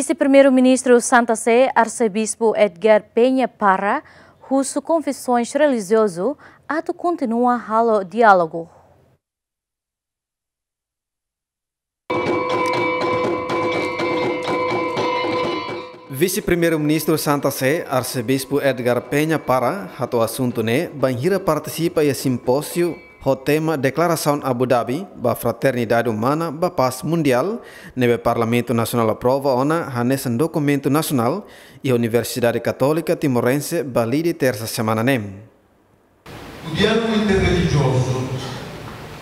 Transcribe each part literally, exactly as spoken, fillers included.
Vise-Primeiru-Ministru Santa Sé, Arsebispu Edgar Peña Parra, husu konfesoens relijiozu atu kontinua halo diálogu. Vise-Primeiru-Ministru Santa Sé, Arsebispu Edgar Peña Parra, hato'o asuntu ne'e bainhira partisipa iha simpóziu ho tema Deklarasaun Abu Dhabi ba Fraternidade Umana ba Pás Mundiál, ne'ebé Parlamentu Nasionál aprova ona hanesan dokumentu nasionál iha Universidade Katólika Timorense, Balide, tersa semana ne'e. O diálogo interreligioso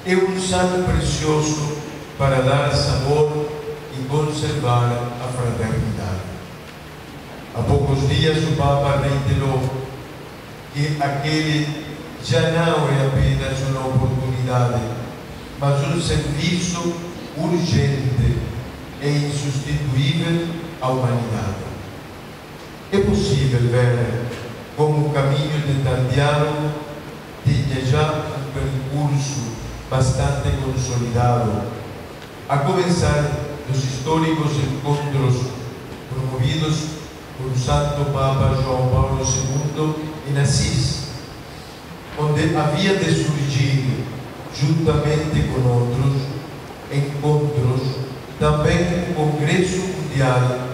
é um sal precioso para dar sabor e conservar a fraternidade. Há poucos dias, o Papa reiterou que aquele já não é apenas uma oportunidade, mas um serviço urgente e insubstituível à humanidade. É possível ver como o caminho de tal diálogo tenha já um percurso bastante consolidado, a começar dos históricos encontros promovidos por Santo Papa João Paulo segundo em Assis, onde havia de surgir, juntamente com outros encontros, também um congresso mundial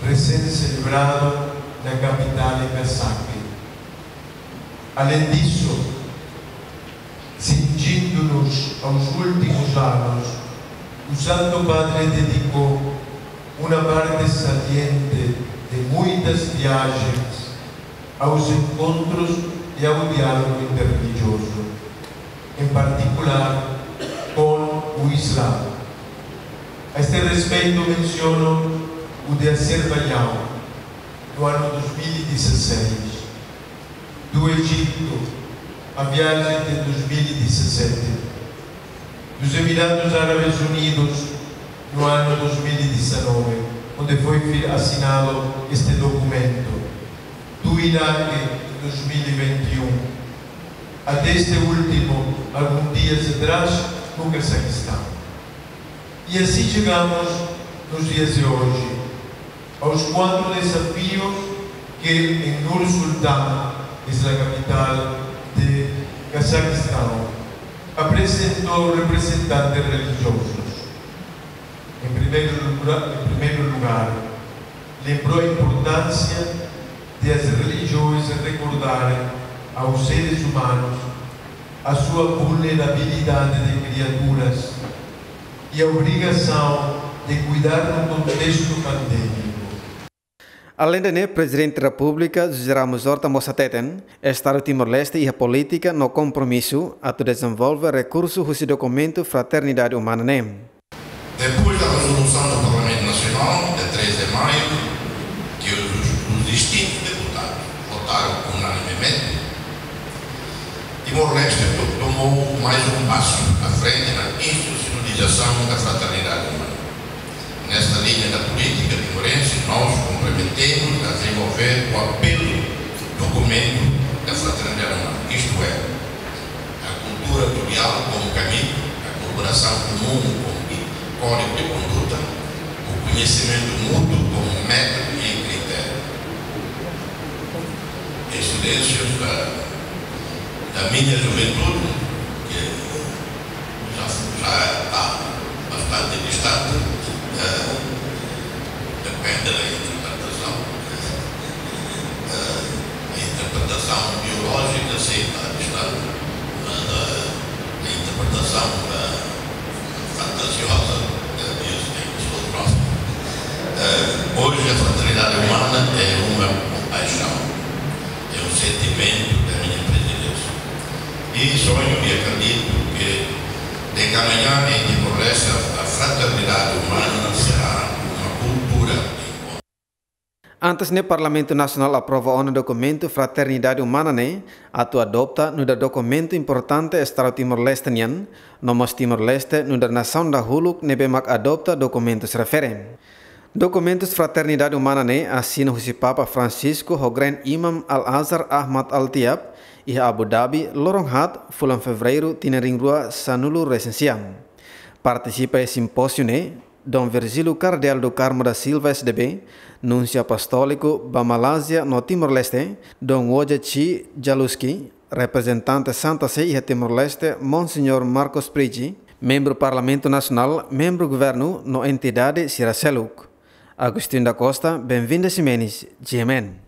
recém-celebrado na capital em Kasake. Além disso, cingindo-nos aos últimos anos, o Santo Padre dedicou uma parte saliente de muitas viagens aos encontros e ao diálogo interreligioso, em particular com o Islã. A este respeito, menciono o de Azerbaijão, no ano dois mil e dezasseis, do Egito, a viagem de dois mil e dezassete, dos Emirados Árabes Unidos, no ano dois mil e dezanove, onde foi fi-, assinado este documento, do Iraque, em dois mil e vinte e um, até este último, alguns dias atrás, no Cazaquistão. E assim chegamos nos dias de hoje, aos quatro desafios que em Nur-Sultan, isla capital de Cazaquistão, apresentou representantes religiosos. Em primeiro lugar, em primeiro lugar, lembrou a importância de as religiões recordarem aos seres humanos a sua vulnerabilidade de criaturas e a obrigação de cuidar no contexto pandêmico. Alende ne'e, Prezidente Repúblika José Ramos Horta mós hateten, Estadu Timor-Leste iha polítika no kompromisu atu dezenvolve rekursu husi dokumentu Fraternidade Umana ne'e. Depois da resolução do Parlamento Nacional, de três de maio, que os, os distintos deputados votaram unanimemente, Timor-Leste to-, tomou mais um passo à frente na institucionalização da fraternidade humana. Nesta linha da política timorense, nós comprometemos a desenvolver o apelo documento da fraternidade humana, isto é, a cultura do diálogo como caminho, a cooperação comum como código de conduta, o conhecimento mútuo como método e critério. Incidências da, da minha juventude, que já, já está bastante distante, eh, depende da interpretação. Eh, a interpretação biológica, sim, está distante, mas a, a interpretação da fantasiosa, eh, diz que estou próximo. Eh, hoje a fraternidade humana é uma paixão, é um sentimento da minha presença. E sonho e acredito que, de que amanhã em Timor-Leste, a fraternidade humana será uma cultura de encontro. Antes ne'e, Parlamentu Nasionál aprova ona dokumentu Fraternidade Umana ne'e atu adopta nu'udar dokumentu importante Estadu Timor-Leste nian, no mós Timor-Leste nu'udar nasaun dahuluk ne'ebé mak adopta dokumentus refere. Dokumentus Fraternidade Umana ne'e asina husi Papa Francisco ho Grand Imam Al-Azhar Ahmad Al-Tayeb iha Abu Dhabi, loron haat, fulan Fevereiru, tinan rihun rua sanulu-resin-sia. Partisipa iha simpóziu ne'e Dom Virgílio Cardeal do Carmo da Silva, S D B, Núnsiu Apostóliku ba Malázia no Timor-Leste, Dom Woja Chi Jaluski, reprezentante Santa Sé iha Timor-Leste, Monseñór Marcos Price, membru Parlamentu Nasionál, membru governu no entidade sira seluk. Agostinho da Costa, Benvinda Ximenes, G M N.